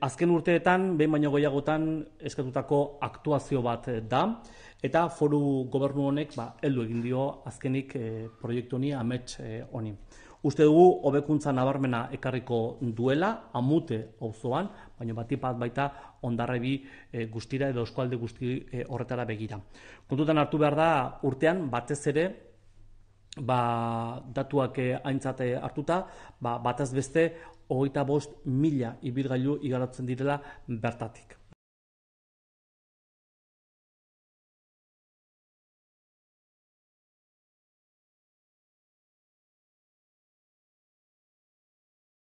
Azken urteetan, behin baino gehiagotan eskatutako aktuazio bat da, eta foru gobernu honek heldu egin dio azkenik proiektu honi, amets honi. Uste dugu hobekuntza nabarmena ekarriko duela, Amute auzoan, baina batipat baita Hondarribi guztira edo eskualde guzti horretara begira. Kontutan hartu behar da urtean batez ere, datuak aintzat hartuta, batez beste 25.000 ibilgailu igarotzen direla bertatik.